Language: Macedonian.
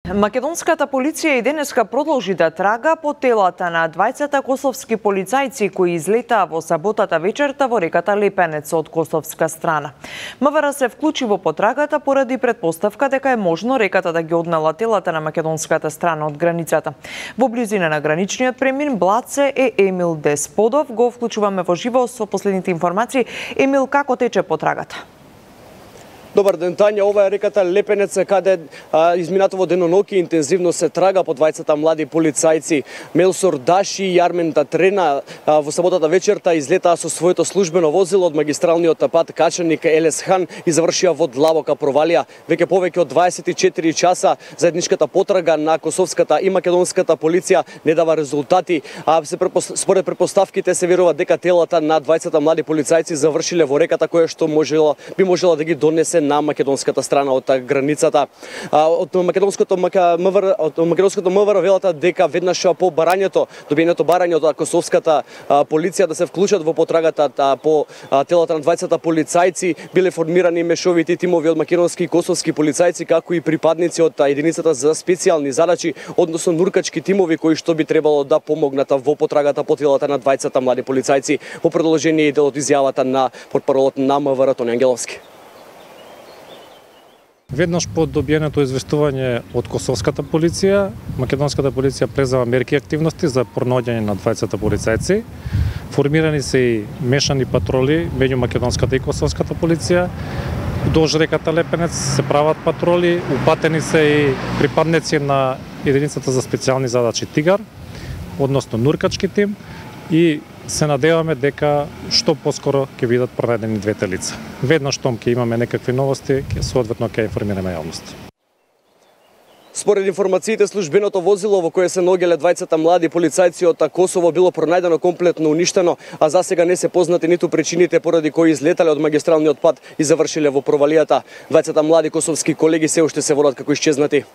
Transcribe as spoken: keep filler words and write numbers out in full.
Македонската полиција и денеска продолжи да трага по телата на двајцата косовски полицајци кои излетаа во саботата вечерта во реката Лепенец од косовска страна. МВР се вклучи во потрагата поради предпоставка дека е можно реката да ги однела телата на македонската страна од границата. Во близина на граничниот премин Блаце е Емил Десподов. Го вклучуваме во живо со последните информации. Емил, како тече потрагата? Добар ден, Тања. Ова е реката Лепенец, каде а, изминатово деноноќи интензивно се трага по двајцата млади полицајци. Мелсор Даши и Јармен Татрена а, во саботата вечерта излетаа со своето службено возило од магистралниот пат Качаник Елес Хан и завршија во длабока провалија. Веќе повеќе од дваесет и четири часа заедничката потрага на косовската и македонската полиција не дава резултати. А се препос... според предпоставките се верува дека телата на двајцата млади полицајци завршиле во реката која што можела би можела да ги донесе на македонската страна од границата. Од македонското МВР, од македонското МВР велата дека веднаш по барањето, добиеното барање од косовската полиција да се вклучат во потрагата по телата на двајцата полицајци, биле формирани мешовити тимови од македонски и косовски полицајци, како и припадници од единицата за специјални задачи, односно нуркачки тимови кои што би требало да помогнат во потрагата по телата на двајцата млади полицајци. Во продолжение и дел од изјавата на портпаролот на МВР Тони Ангеловски. Веднаш по добиеното известување од косовската полиција, македонската полиција презема мерки и активности за пронаоѓање на двајцата полицајци. Формирани се и мешани патроли меѓу македонската и косовската полиција. Долж реката Лепенец се прават патроли, упатени се и припадници на единицата за специјални задачи Тигар, односно нуркачки тим, и се надеваме дека што поскоро ќе бидат пронајдени двете лица. Веднаш штом ќе имаме некакви новости, ќе соодветно ќе информираме јавност. Според информациите, службеното возило во кое се наоѓале двајцата млади полицајци од Косово било пронајдено комплетно уништено, а за сега не се познати ниту причините поради кои излетале од магистралниот пат и завршиле во провалијата. двајцата млади косовски колеги се уште се водат како исчезнати.